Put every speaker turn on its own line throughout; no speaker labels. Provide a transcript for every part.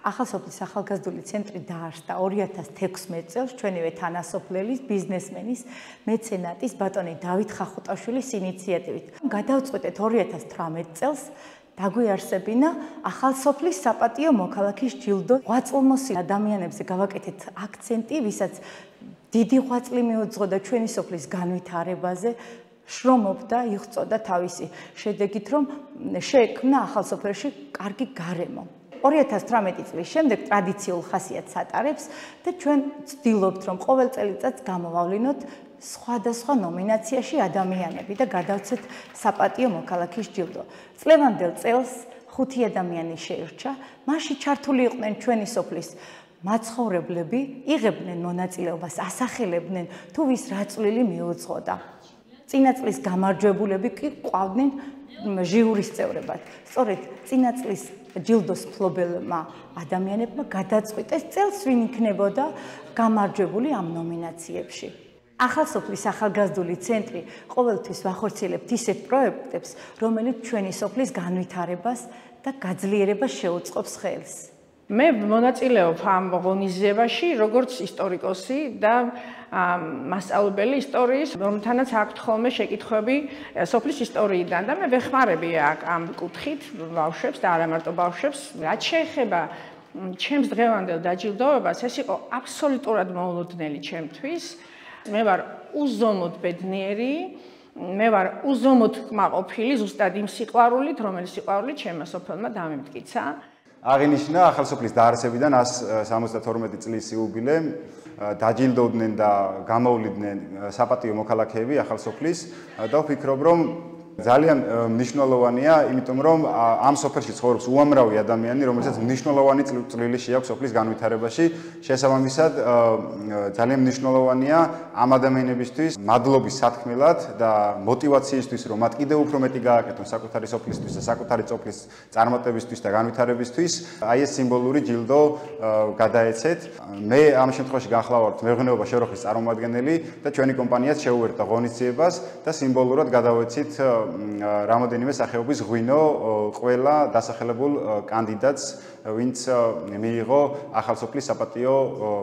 ახალსოფლის ახალგაზრდული ცენტრი დაარსდა 2016 წელს ჩვენივე თანასოფლელის, ბიზნესმენის, მეცენატის ბატონი დავით ხახუტაშვილის ინიციატივით. გადავწყვეტეთ 2018 წელს დაგვიარსებინა ახალსოფლის საპატიო მოქალაქის ჯილდო. ღვაწლმოსილ ადამიანებზე გავაკეთეთ აქცენტი, ვისაც დიდი ღვაწლი მიუძღოდა ჩვენი სოფლის განვითარებაზე. შრომობდა, იღწოდა თავისი შედეგით, რომ შეექმნა ახალსოფელში კარგი გარემო. 2018 წლის შემდეგ ტრადიციულ ხასიათს ატარებს და ჩვენ ვცდილობთ, რომ ყოველ წელიწადს გამოვავლინოთ სხვადასხვა ნომინაციაში ადამიანები და გადავცეთ საპატიო მოქალაქის ჯილდო. წლევანდელ წელს 5 ადამიანი შეირჩა, მასში ჩართული იყვნენ ჩვენი სოფლის მაცხოვრებლები, იღებდნენ მონაწილეობას, ასახელებდნენ თუ ვის რა წვლილი მიუძღოდა. წინა წლის გამარჯვებულები კი ყვავდნენ ჟიურის წევრებად. სწორედ წინა წლის ჯილდოს მფლობელმა ადამიანებმა გადაწყვიტეს წელს ვინ იქნებოდა გამარჯვებული ამ ნომინაციებში. ახალსოფლის ახალგაზრდული ცენტრი ყოველთვის ვახორციელებთ ისეთ პროექტებს, რომელიც ჩვენი სოფლის განვითარებას და გაძლიერებას შეუწყობს ხელს.
მე მონაწილეობ ამ ღონისძიებაში როგორც ისტორიკოსი და მასწავლებელი ისტორიის, რომელთანაც აქვთ ხოლმე შეკითხვები სოფლის ისტორიიდან და მე ვეხმარები ამ კუთხით ბავშვებს და არა მარტო ბავშვებს. რაც შეეხება ჩემს დღევანდელ დაჯილდოებას, ეს იყო აბსოლუტურად მოულოდნელი ჩემთვის. მე ვარ უზომოდ ბედნიერი, მე ვარ უზომოდ კმაყოფილი ზუსტად იმ სიყვარულით, რომელიც სიყვარული ჩემმა სოფელმა დამიმტკიცა.
აღინიშნა ახალსოფლის დაარსებიდან 172 წლის იუბილე, დაჯილდოვდნენ და გამოვლიდნენ საპატიო მოქალაქეები ახალსოფლის და ვფიქრობ, რომ ძალიან მნიშვნელოვანია, იმიტომ რომ ამ სოფელში ცხოვრობს უამრავი ადამიანი, რომელსაც მნიშვნელოვანი წვლილი შეაქვს სოფლის განვითარებაში. შესაბამისად, ძალიან მნიშვნელოვანია ამ ადამიანებისთვის მადლობის სათქმელად და მოტივაციისთვის, რომ მათ კიდევ უფრო მეტი გააკეთონ საკუთარი სოფლისთვის და საკუთარი სოფლის წარმატებისთვის და განვითარებისთვის, აი ეს სიმბოლური ჯილდო გადაეცეთ. მე ამ შემთხვევაში განხლავართ მეღვინეობა შეროხის წარმომადგენელი და ჩვენი კომპანიაც შეუერთდა ღონისძიებას და სიმბოლურად გადავეცით რამოდენიმე სახეობის ღვინო ყველა დასახელებულ კანდიდატს, ვინც მიიღო ახალსოფლის საპატიო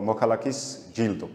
მოქალაქის ჯილდო.